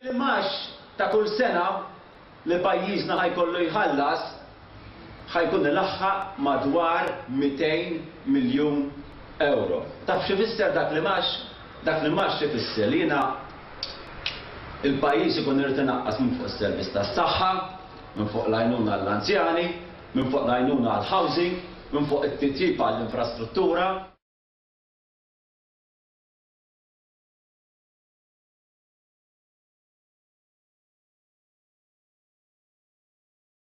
L-imgħax ta' kull sena li pajjiżna ħa jkollu jħallas ħa jkun ilaħħaq madwar 200 miljun ewro. Taf x'ifisser dak l-imgħax? Dak l-imgħax ifisser li jiena il-pajjiż ikun irid inaqqas minn fuq is-servizz tas-saħħa, minn fuq l-għajnuna għall-anzjani, minn fuq l-għajnuna għall-housing, minn fuq it-titjib għall-infrastruttura.